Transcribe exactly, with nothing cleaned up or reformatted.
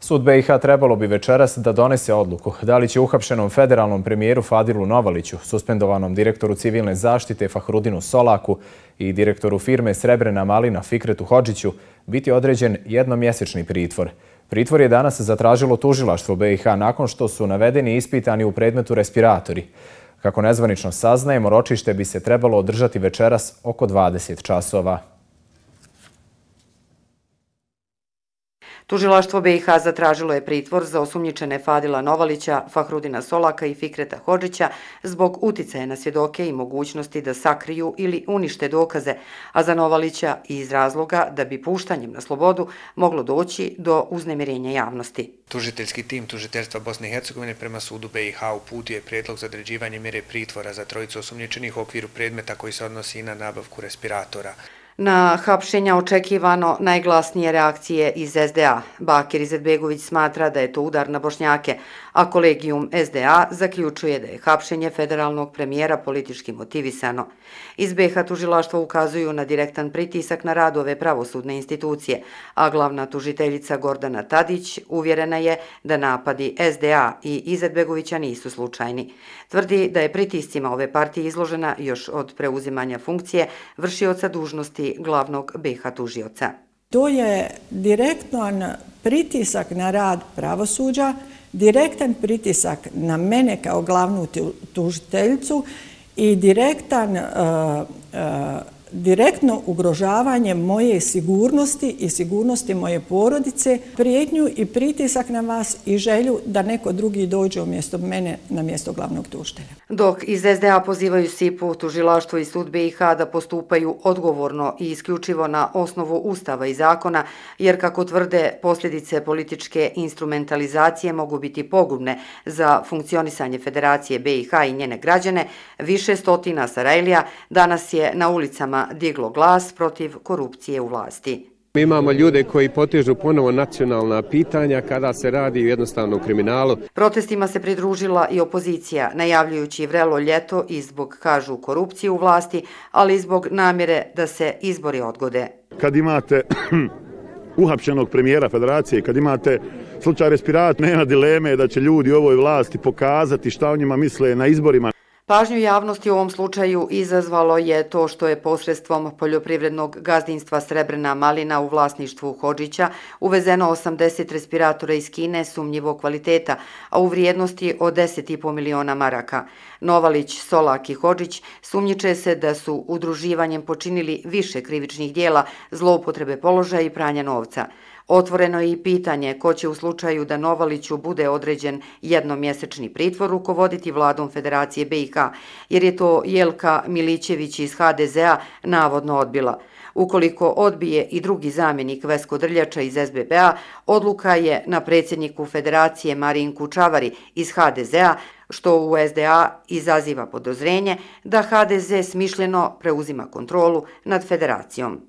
Sud be i ha trebalo bi večeras da donese odluku da li će uhapšenom federalnom premijeru Fadilu Novaliću, suspendovanom direktoru civilne zaštite Fahrudinu Solaku i direktoru firme Srebrena malina Fikretu Hodžiću biti određen jednomjesečni pritvor. Pritvor je danas zatražilo tužilaštvo be i ha nakon što su navedeni i ispitani u predmetu respiratori. Kako nezvanično saznajemo, ročište bi se trebalo održati večeras oko dvadeset časova. Tužilaštvo be i ha zatražilo je pritvor za osumnjičene Fadila Novalića, Fahrudina Solaka i Fikreta Hodžića zbog uticaja na svjedoke i mogućnosti da sakriju ili unište dokaze, a za Novalića i iz razloga da bi puštanjem na slobodu moglo doći do uznemirenja javnosti. Tužiteljski tim tužiteljstva Bosne i Hercegovine prema sudu be i ha uputio je prijedlog za određivanje mjere pritvora za trojicu osumnjičenih u okviru predmeta koji se odnosi na nabavku respiratora. Na hapšenja očekivano najglasnije reakcije iz es de a. Bakir Izetbegović smatra da je to udar na Bošnjake, a kolegijum es de a zaključuje da je hapšenje federalnog premijera politički motivisano. Iz be i ha tužilaštvo ukazuju na direktan pritisak na rad ove pravosudne institucije, a glavna tužiteljica Gordana Tadić uvjerena je da napadi es de a i Izetbegovića nisu slučajni. Tvrdi da je pritiscima ove partije izložena još od preuzimanja funkcije vršioca dužnosti glavnog be i ha tužioca. To je direktan pritisak na rad pravosuđa, direktan pritisak na mene kao glavnu tužiteljicu i direktan, uh, uh, direktno ugrožavanje moje sigurnosti i sigurnosti moje porodice, prijetnju i pritisak na vas i želju da neko drugi dođe umjesto mene na mjesto glavnog tužitelja. Dok iz es de a pozivaju sipu, tužilaštvo i sud be i ha da postupaju odgovorno i isključivo na osnovu Ustava i zakona, jer kako tvrde, posljedice političke instrumentalizacije mogu biti pogubne za funkcionisanje Federacije be i ha i njene građane, više stotina Sarajlija danas je na ulicama diglo glas protiv korupcije u vlasti. Mi imamo ljude koji potežu ponovo nacionalna pitanja kada se radi o jednostavnom kriminalu. Protestima se pridružila i opozicija, najavljujući vrelo ljeto i zbog, kažu, korupcije u vlasti, ali i zbog namjere da se izbori odgode. Kad imate uhapšenog premijera Federacije, kad imate slučaj respiratora, nema dileme da će ljudi u ovoj vlasti pokazati šta o njima misle na izborima. Pažnju javnosti u ovom slučaju izazvalo je to što je posredstvom poljoprivrednog gazdinstva Srebrena malina u vlasništvu Hodžića uvezeno osamdeset respiratora iz Kine sumnjivog kvaliteta, a u vrijednosti od deset i po miliona maraka. Novalić, Solak i Hodžić sumnjiče se da su udruživanjem počinili više krivičnih dijela, zloupotrebe položaja i pranja novca. Otvoreno je i pitanje ko će u slučaju da Novaliću bude određen jednomjesečni pritvor rukovoditi vladom Federacije be i ha, jer je to Jelka Milićević iz ha de ze a navodno odbila. Ukoliko odbije i drugi zamjenik Vesko Drljača iz es be be a, odluka je na predsjedniku Federacije Marinku Čavari iz ha de ze a, što u es de a izaziva podozrenje da ha de ze smišljeno preuzima kontrolu nad Federacijom.